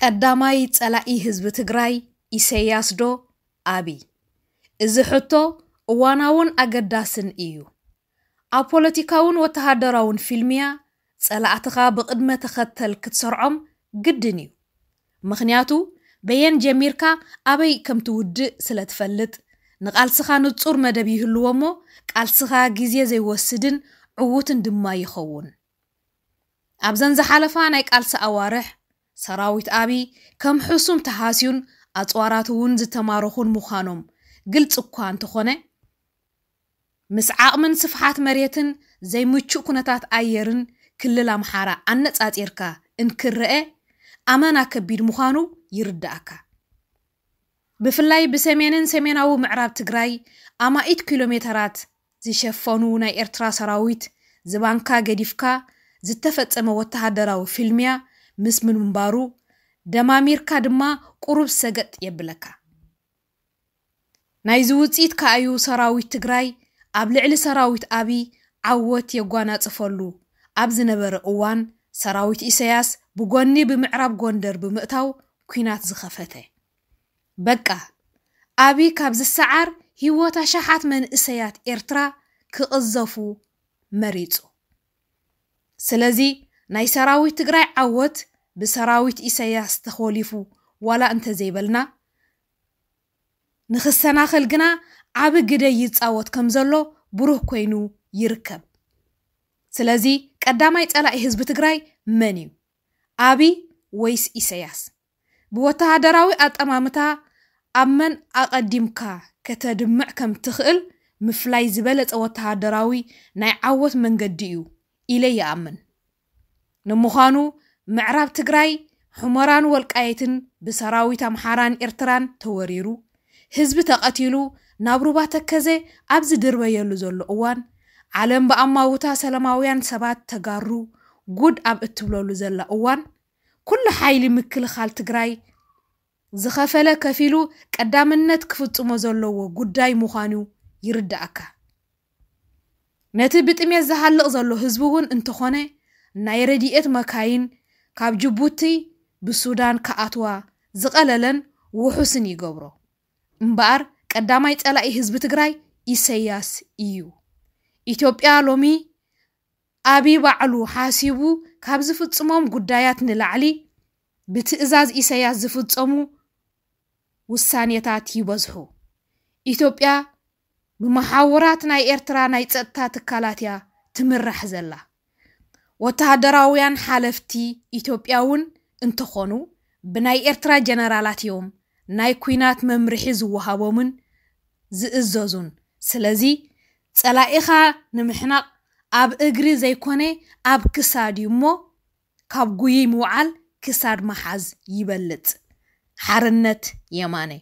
ቀዳማይ ጸላኢ ህዝቢ ትግራይ ኢሰያስ ዶ ኣብይ? እዚ ሕቶ እዋናውን ኣገዳስን እዩ። ኣብ ፖለቲካውን ወተሃደራውን ፊልምያ ጸላእትኻ ብቕድመ ተኸተል ክትሰርዖም ግድን እዩ። ምኽንያቱ በየን ጀሚርካ ኣበይ ከም ትውድእ ስለ ትፈልጥ፣ ንቓልስኻ ንጹር መደብ ይህልዎ እሞ፣ ቃልስኻ ግዜ ዘይወስድን ዕዉትን ድማ ይኸውን። ኣብዘን ዝሓለፋ ናይ ቃልሲ ኣዋርሕ፣ ሰራዊት ኣብይ ከም ሕሱም ተሃስዩን ኣጽዋራት እውን ዝተማረኹን ምዃኖም ግልጺ እኳ እንተኾነ፣ ምስ ዓቕምን ስፍሓት መሬትን ዘይምቹእ ኩነታት ኣየርን ክልል ኣምሓራ ኣነጻጺርካ እንክረአ፣ ኣመና ከቢድ ምዃኑ ይርዳእካ። ብፍላይ ብሰሜንን ሰሜናዊ ምዕራብ ትግራይ ኣማኢት ኪሎ ሜተራት ዝሸፈኑ ናይ ኤርትራ ሰራዊት ዝባንካ ገዲፍካ ዝተፈጸመ ወተሃደራዊ ፊልምያ ምስ ምንባሩ፣ ደማሚርካ ድማ ቁሩብ ሰገጥ የብለካ። ናይዚ ውጽኢት ከኣዩ ሰራዊት ትግራይ ኣብ ልዕሊ ሰራዊት ኣብይ ዓወት የጓናጽፈሉ ኣብ ዝነበረ እዋን፣ ሰራዊት ኢሰያስ ብጎኒ ብምዕራብ ጎንደር ብምእታው ኲናት ዝኸፈተ። በቃ፣ ኣብይ ካብ ዝሰዓር ህይወት ኣሽሓት መንእሰያት ኤርትራ ክቕዘፉ መሪጹ። ስለዚ ናይ ሰራዊት ትግራይ ዓወት ብሰራዊት ኢሰያስ ተኾሊፉ ዋላ እንተዘይበልና፣ ንኽሰናኸል ግና ዓቢ ግደ ይጻወት ከም ዘሎ ብሩህ ኮይኑ ይርከብ። ስለዚ ቀዳማይ ጸላኢ ህዝቢ ትግራይ መን እዩ? ኣብይ ወይስ ኢሰያስ? ብወተሃደራዊ ኣጠማምታ ኣብ መን ኣቐዲምካ ከተድምዕ ከም ትኽእል ምፍላይ ዝበለጸ ወተሃደራዊ ናይ ዓወት መንገዲ እዩ ኢለ ይኣምን። ንምዃኑ ምዕራብ ትግራይ ሑመራን ወልቃይትን ብሰራዊት ኣምሓራን ኤርትራን ተወሪሩ፣ ህዝቢ ተቐቲሉ፣ ናብ ሩባ ተከዘ ኣብ ዝድርበየሉ ዘሎ እዋን፣ ዓለም ብኣማውታ ሰላማውያን ሰባት ተጋሩ ጉድ ኣብ እትብለሉ ዘላ እዋን፣ ኩሉ ሓይሊ ምክልኻል ትግራይ ዝኸፈለ ከፊሉ ቀዳምነት ክፍጽሞ ዘለዎ ጉዳይ ምዃኑ ይርዳእካ። ነቲ ብጥሜት ዝሃልቕ ዘሎ ህዝቢ እውን እንተኾነ፣ ናይ ረድኤት መካይን ካብ ጅቡቲ ብሱዳን ክኣትዋ ዝቐለለን ውሑስን ይገብሮ። እምበኣር ቀዳማይ ጸላኢ ህዝቢ ትግራይ ኢሰያስ እዩ። ኢትዮጵያ ሎሚ ኣብይ ባዕሉ ሓሲቡ ካብ ዝፍጽሞም ጉዳያት ንላዕሊ፣ ብትእዛዝ ኢሰያስ ዝፍጸሙ ውሳኔታት ይበዝሑ። ኢትዮጵያ ብመሓውራት ናይ ኤርትራ ናይ ጸጥታ ትካላት እያ ትምራሕ ዘላ። ወተሃደራውያን ሓለፍቲ ኢትዮጵያ እውን እንተኾኑ፣ ብናይ ኤርትራ ጀነራላት እዮም ናይ ኲናት መምርሒ ዝወሃቦምን ዝእዘዙን። ስለዚ ጸላኢኻ ንምሕናቕ ኣብ እግሪ ዘይኮነ ኣብ ክሳድ እዩ እሞ፣ ካብ ጉይይ ምውዓል ክሳድ ምሓዝ ይበልጽ። ሓርነት የማነ።